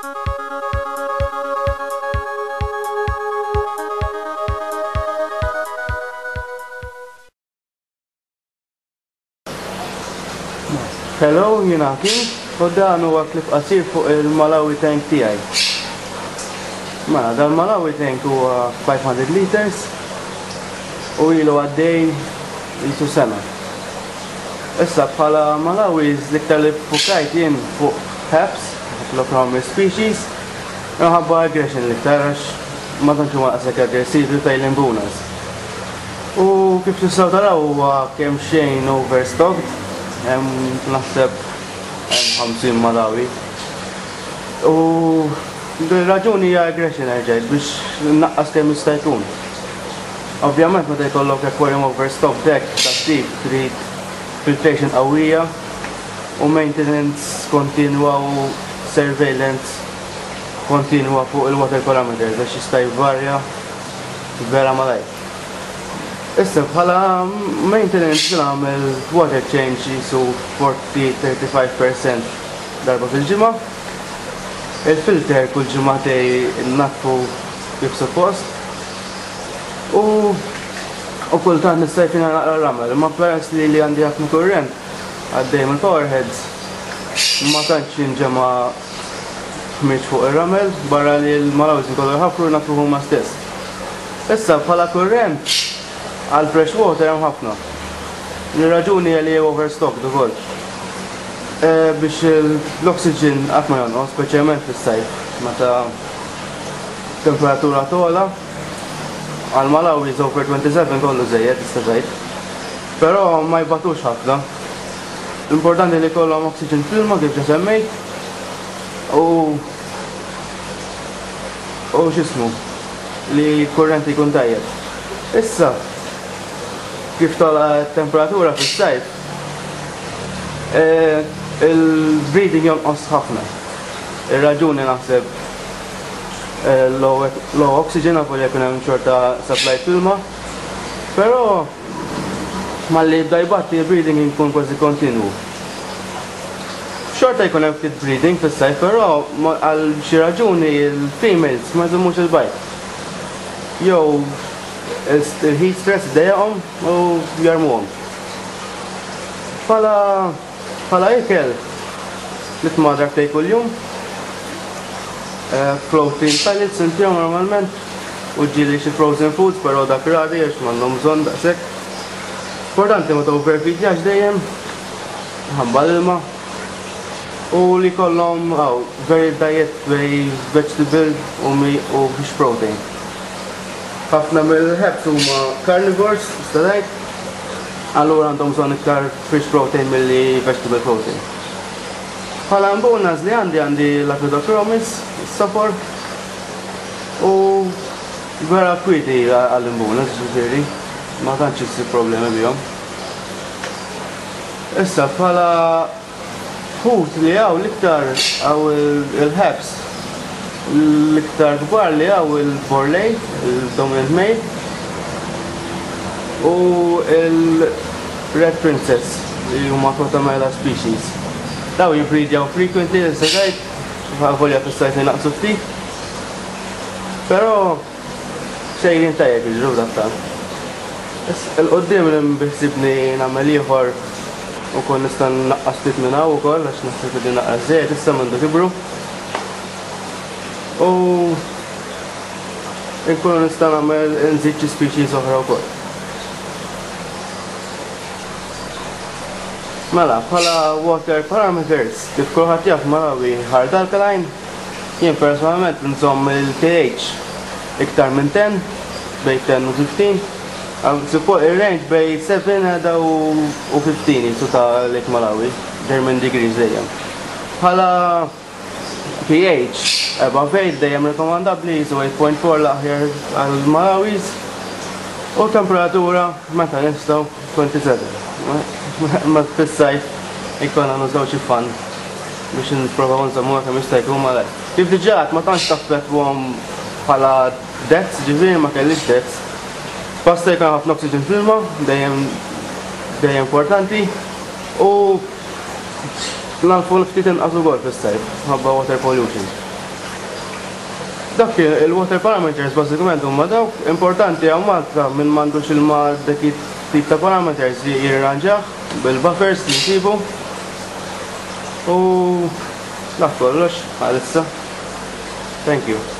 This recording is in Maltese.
Hello, jiena King, u dan huwa klip qasir fuq il-Malawi tank tiegħi. Mela, dan Malawi tank huwa 500 liters u ilu għaddej jisu sena. Issa bħala Malawis l-iktar li fukajt jien fuq Haps, Haplochromis species, minħabba aggression l-iktar għax ma tantx huma daqshekk aggressivi fejn l-imbunas. U kif tistgħu taraw huwa kemm xejn overstocked, hemm naħseb hemm 50 Malawi. U raġuni hija aggression erġajt biex naqqas kemm jista' jkun. Ovvjament meta jkollok aquarium overstocked hekk tat-tip trid filtration qawwija u maintenance kontinwa u surveillance kontinwa fuq il-water parameters għax jista' jvarja vera malajr. Issa bħala maintenance nagħmel water change jisu 40-35% darba fil-ġimgħa. Il-filter kull ġimagħtej naddfu kif suppost. U u kultant nista' jtina naqra ramel, imma peress li li għandi ħafna kurrent għaddej mill-powerheads ma tantx jinġema' ħmieġ fuq ir-ramel barra li l-Malawis ikollu jħaffru jnaddfu huma stess. Issa bħala kurrent għal fresh water hemm ħafna. Ir-raġuni hija li overstocked ukoll. E, biex l-oxygen qatt ma jonqos, speċjalment fis-sajf meta temperatura togħla. Għal Malawi over 27 kollu żejjed tista' tgħid. Però ma jbatux ħafna. L-importanti li jkollhom oxygen fl-ilma kif ġa semmejt. U u x'ismu li kurrenti jkun tajjeb. Issa kif togħla temperatura fis-sajf eh, il-breeding jonqos ħafna. Ir-raġuni naħseb eh, low, low oxygen għafu li jkun hemm xorta supply fl-ilma. Però malli jibda jbatti il-breeding jkun kważi kontinwu. Xorta jkun hemm ftit breeding fis-sajf, però għal xi raġuni il-females ma jżommux il-bajd. Jew il-heat stress idejjaqhom u jarmuhom. Bħala bħala ikel nitma' darbtejn kuljum. Eh, protein pellets intihom normalment u ġieli xi frozen foods, però dak rari għax m'għandhom bżonn daqshekk. Importanti ma overfeedjax dejjem ħabba l-ilma u li kollhom aw very diet bej vegetable u mi u fish protein. Ħafna mill-haps huma carnivores, tista' tgħid, allura għandhom bżonn iktar fish protein milli vegetable protein. Bħala mbunas li għandi għandi Lapidochromis, is-sofor u vera kwieti għall-imbunas, ġifieri, ma tantx issib problemi bihom. Issa bħala ħut li hawn l-iktar hawn il-haps l-iktar kbar li hawn il-borley, il-dominant male u il-red princess li huma Protamela species. Daw jibbridjaw frequently issa tgħid, volja fis-sajf inaqqsu ftit. Però sejrin tajjeb jiġru f'dattant. Il-qoddim li biħsibni nagħmel ieħor u kon nista' naqqas ftit minn hawn ukoll għax naħseb li naqqas żejjed issa m'għandu kibru. U nkunu nista' nagħmel nżid xi species oħra wkoll. Mela, bħala water parameters, kif kulħadd jaf Malawi hard alkaline, jien personalment nżomm il-pH iktar minn 10, bejn 10 u 15. Suppo il-range bejn 7 għada u 15 jisu ta' Lake Malawi, German degrees dejjem. Bħala pH above 8 dejjem rekomandabbli jisu 8.4 l-aħjar għal Malawis u temperatura meta nistgħu 27. Ma fis-sajf ikonna nużaw xi fan biex nipprovaw nżommuha kemm jista' jkun malajr. Kif diġà għedt ma tantx taffettwahom bħala deaths, ġifieri ma kellix deaths. Basta jkun ħafna oxygen fl-ilma, dejjem dejjem importanti u nagħrfu ftit inqas ukoll fis-sajf ħabba water pollution. Dak il-water parameters bażikament huma dawk. Importanti hawn Malta min m'għandux ilma dak it-tip ta' parameters jirranġah bil-buffers li nsibu. U dak kollox għalissa. Thank you.